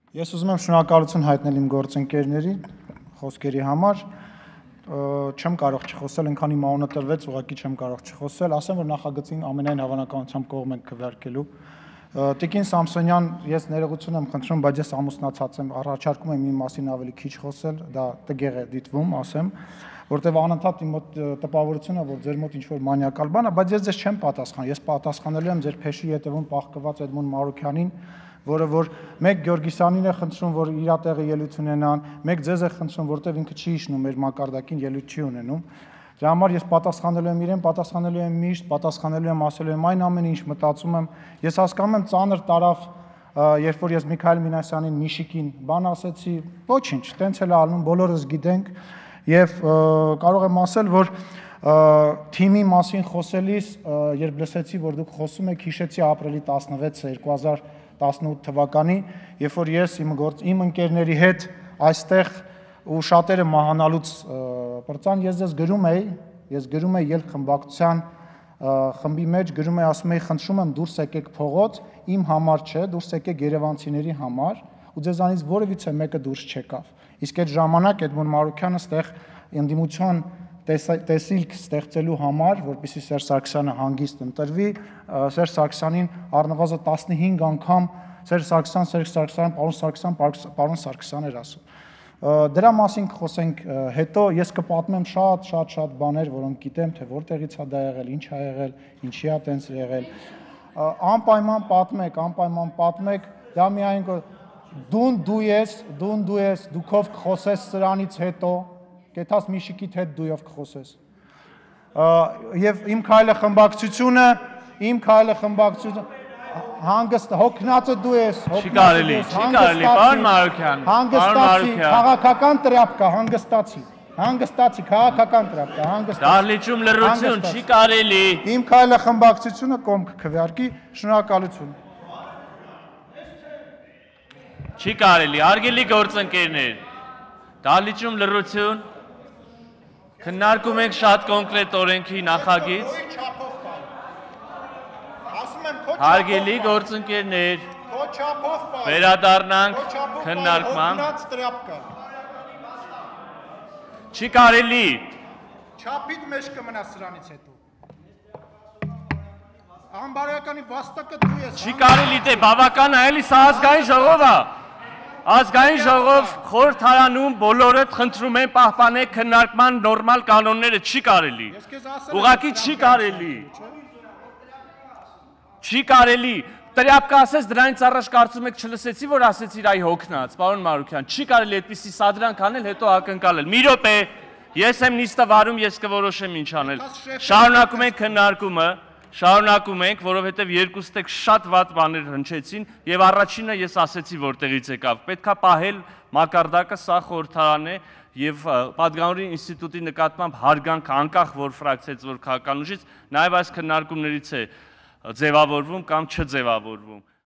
Ես ուզում եմ շնորհակալություն հայտնել իմ գործընկերներին խոսքերի համար, չեմ կարող չխոսել, այնքան իմ անունը տրվեց, ուղղակի չեմ կարող չխոսել, ասեմ, որ նախագծին ամենայն հավանականությամբ կողմ ենք քվեարկելու։ Տիկին Սամսոնյան, ես ներողություն եմ խնդրում, բայց ես ամուսնացած եմ, առաջարկում եմ իմ մասին ավելի քիչ խոսել, դա տգեղ է դիտվում, ասեմ, որտեղ անընդհատ իմ մոտ տպավորություն է, որ ձեր մոտ ինչ-որ մանյակալ բան է, բայց ես ձեզ չեմ պատասխան, ես պատասխանելու եմ ձեր փեշի ետևում պահկված Էդմոն Մարուքյանին, որը որ մեկ Գյորգիսյանին է խնդրում, որ իր տեղը ելույթ ունենան, մեկ ձեզ է խնդրում, որտեղ ինքը չի իջնում մեր մակարդակին ելույթ չի ունենում։ Դրա համար ես պատասխանելու եմ իրեն, պատասխանելու եմ միշտ, պատասխանելու եմ, ասելու եմ այն ամենը, ինչ մտածում եմ։ Ես հասկանում եմ ծանր տարավ, երբ որ ես Միքայել Մինասյանին Միշիկին բան ասեցի, ոչինչ, տենց էլ ալնում, բոլորս գիտենք եւ կարող եմ ասել, որ թիմի մասին խոսելիս, երբ լսեցի, որ դուք խոսում եք, հիշեցի ապրիլի 16-ը 2018 թվականի, երբ որ ես իմ ընկերների հետ այստեղ ու շատերը մահանալուց պրծան, ես գրում էի ելք խմբակցության խմբի մեջ, գրում էի, ասում էի, խնդրում եմ դուրս եկեք փողոց, իմ համար չէ, դուրս եկեք երևանցիների համար, ու ձեզանից որևիցե մեկը դուրս չեկավ։ Իսկ այդ ժամանակ Էդմոն Մարուքյանը ստեղ ընդդիմության տեսիլք ստեղծելու համար, որպեսզի Սերժ Սարգսյանը հանգիստ ընտրվի, Սերժ Սարգսյանին առնվազն 15 անգամ Սերժ Սարգսյան, պարոն Սարգսյան էր ասում։ Դրա մասին կխոսենք հետո, ես կպատմեմ շատ բաներ, որոնք գիտեմ, թե որտեղից է դա եղել, ինչ է եղել, ինչի է տենց եղել։ Անպայման պատմեք, դա միայն դու ես, դուքով կխոսես սրանից հետո, կեթաս Միշիկիդ հետ դույով կխոսես։ Եվ իմ քայլը խմբակցությունը հանգստ հոգնածը դու ես, չի կարելի, պարոն Մարուքյան, հանգստացի, քաղաքական տրապկա, հանգստացի, քաղաքական տրապկա, հանգստացի։ Դահլիճում լռություն, չի կարելի։ Իմ քայլը խմբակցությունը կողմ կքվեարկի, շնորհակալություն։ Չի կարելի, հարգելի գործընկերներ, դահլիճում լռություն, քննարկում ենք շատ կոնկրետ օրենքի նախագիծ։ Հարգելի գործընկերներ, վերադառնանք քննարկման։ Չի կարելի։ Չափիդ մեջ կմնա սրանից հետո։ Անբարոյականի վաստակը դու ես։ Չի կարելի, դե բավական է, էլի սա ազգային ժողով է։ Ազգային ժողով խորհրդարանում բոլորը խնդրում են պահպանեք քննարկման նորմալ կանոնները, չի կարելի։ Ուղղակի չի կարելի։ Չի կարելի, տրյապկա ասես դրանից առաջ կարծում եք չլսեցի, որ ասեցիր այ հոգնած, պարոն Մարուքյան, չի կարելի այդպիսի սադրանք անել, հետո ակնկալել։ Մի րոպե, ես եմ նիստը վարում, ես կորոշեմ ինչ անել։ Շարունակում ենք քննարկումը, շարունակում ենք, որովհետև երկուստեք շատ վատ բաներ հնչեցին եւ առաջինը ես ասեցի որտեղից եկավ։ Պետքա պահել մակարդակը, սա խորհրդարան է եւ Պատգամավորի ինստիտուտի նկատմամբ հարգանք անկախ որ ֆրակցիայից որ քաղաքական ուժից, նաեւ այս քննարկումներից է ձևավորվում կամ չձևավորվում։